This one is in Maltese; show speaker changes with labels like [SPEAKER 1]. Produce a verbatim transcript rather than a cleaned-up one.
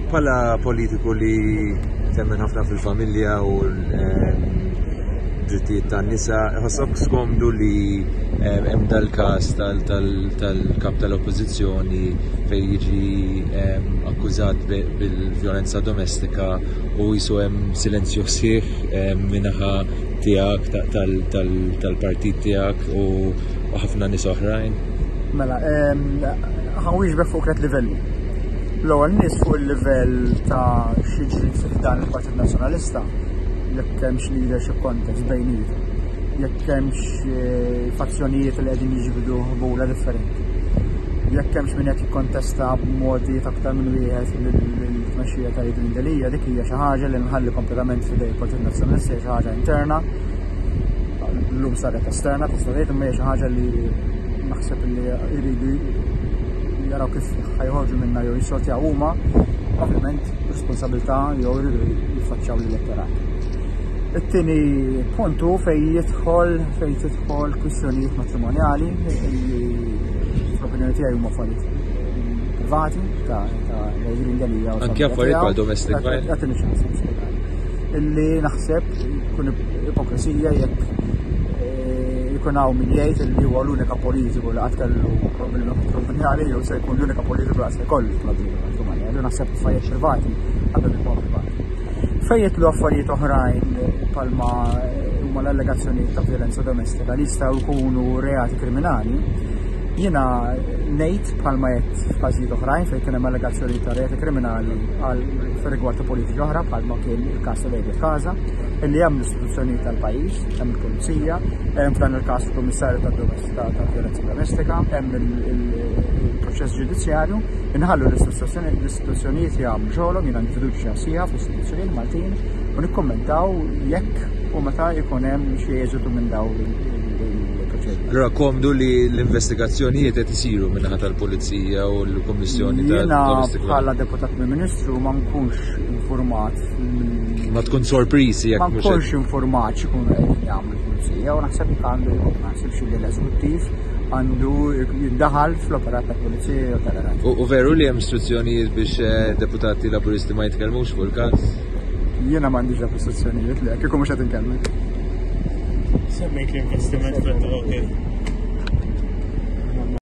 [SPEAKER 1] Bħala politiku li temmen ħafna fil-familja u l-drittijiet tan-nisa, ħossok skomdu li hemm dal-każ tal-kap tal-oppożizzjoni fejn jiġi akkużat bil-vjolenza domestika u jisu hemm silenzju sħiħ min-naħa tiegħek, tal-partit tiegħek u ħafna nies oħrajn?
[SPEAKER 2] Mela, ħa nwieġbek fuq tliet livelli. L-ewwel nies fuq il-livell ta' x'jiġri fi dan il-Partit Nazzjonalista, jekk hemmx leadership contest bejniethom, jekk hemmx fazzjonijiet li qegħdin jiġbdu ħbula differenti, jekk hemmx min qed jikkontesta b'modi aktar minn wieħed l-tmexxija ta' Adrian Delia, dik hija xi ħaġa li nħalli kompletament f'idej il-Partit Nazzjonalista, hija xi ħaġa interna. Llum saret esterna, tista' tgħid, imma hija xi ħaġa li naħseb li jridu jaraw kif ħa joħorġu minna jew jissortjaw huma, ovvjament responsabilità jew jridu jiffaċċjaw l-elettorat. It-tieni punt hu fejn jidħol fejn tidħol kwistjonijiet matrimonjali li fl-opinjoni tiegħi huma affarijiet privati ta' Adrian Delia u
[SPEAKER 1] Anke affarijiet bħal domestic violence.
[SPEAKER 2] Għatini ċans nispjegaj. Illi naħseb kun ipokrisija jekk jkun hawn min jgħid li huwa l-unika politiku li qatt kellu problemi matrimoniali jew se jkun l-unika politiku li qatt se jkollu problemi matrimoniali. Naħseb affarijiet privati għandhom ikunu privati. Fejn jidħlu affarijiet oħrajn palma huma l-allegazzjonijiet ta' violenza domestika li jistgħu jkunu reati kriminali, jiena ngħid bħalma jgħid f'każijiet oħrajn fejn kien hemm allegazzjonijiet ta' reati kriminali għal rigward ta' politiċi oħra, bħalma kien il-każ ta' David Casa, illi hemm l-istituzzjonijiet tal-pajjiż, hemm il-pulizija, hemm f'dan il-każ il-Kummissarju ta' Violenza Domestika, hemm il-proċess ġudizzjarju, inħallu l-istituzzjonijiet jagħmlu xogħolhom, jiena għandi fiduċja sħiħa fl-istituzzjonijiet Maltin u nikkummentaw jekk u meta jkun hemm xi eżitu minn dawn il-proċeduri.
[SPEAKER 1] Allora komdu li l-investigazzjonijiet qed isiru min-naħa tal-Pulizija u l-Kummissjoni
[SPEAKER 2] Jiena
[SPEAKER 1] tal-Domestic
[SPEAKER 2] bħala deputat Prim Ministru ma nkunx informat.
[SPEAKER 1] Ma tkun sorpriżi jekk
[SPEAKER 2] Ma
[SPEAKER 1] mhux
[SPEAKER 2] nkunx informat x'ikunu qegħdin jagħmlu l-Pulizija u naħseb li għandu jkun, ma naħsibx li l-eżekuttiv għandu jiddaħal fl-operat tal-Pulizija jew tal-Qrati.
[SPEAKER 1] U veru li hemm istruzzjonijiet biex deputati Laburisti ma jitkellmux fuq il-każ?
[SPEAKER 2] Jiena m'għandix dak istruzzjonijiet li kieku mhux qed inkellmek.
[SPEAKER 3] Semmejt l-investiment fl-ok.